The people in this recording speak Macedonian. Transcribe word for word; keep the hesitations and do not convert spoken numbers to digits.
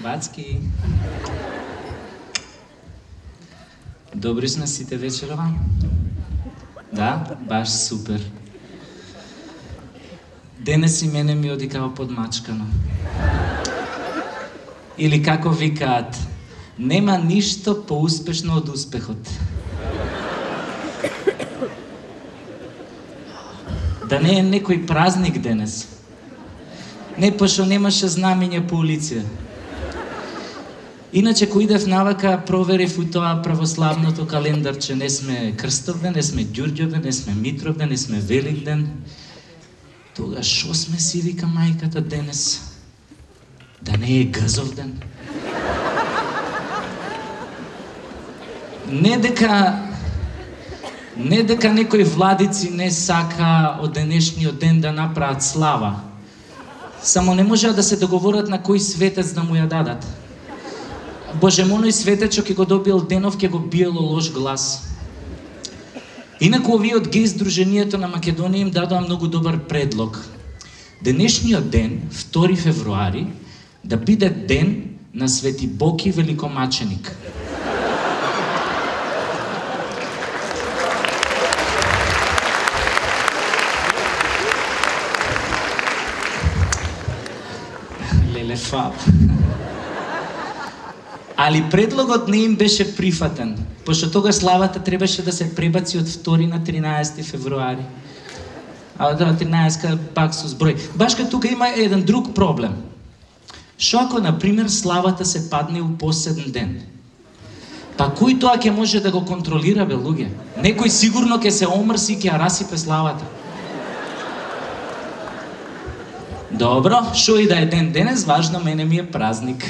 Бацки. Добри сме сите вечерова? Да, баш супер. Денес и мене ми оди као подмачкано. Или како викаат, нема ништо поуспешно од успехот. Да не е некој празник денес. Не, пошто немаше знамење по улиција. Иначе, кој идев навака, проверив у тоа православното календарче, не сме Крстовден, не сме Ѓурѓовден, не сме Митровден, не сме Великден. Тога шо сме си, вика мајката денес? Да не е Гзовден? Не дека не дека некои владици не сака од денешниот ден да направат слава. Само не можеа да се договорат на кој светец да му ја дадат. Боже, моној светечо ќе го добил денов, ќе го биело лош глас. Инаку овие од геј Сдруженијето на Македонија им дадоа многу добар предлог. Денешниот ден, втори февруари, да биде ден на Свети Боки Великомаченик. Леле фаб. Али предлогот не им беше прифатен, пошто тога славата требаше да се пребаци од втори на тринаесети февруари. А да, тринаесетка пак со зброј. Башка тука има еден друг проблем. Шо ако, например, славата се падне у последен ден? Па кој тоа ќе може да го контролира, бе, луѓе? Некој сигурно ќе се омрси и ќе ја расипе славата. Добро, шо и да е ден денес, важно мене ми е празник.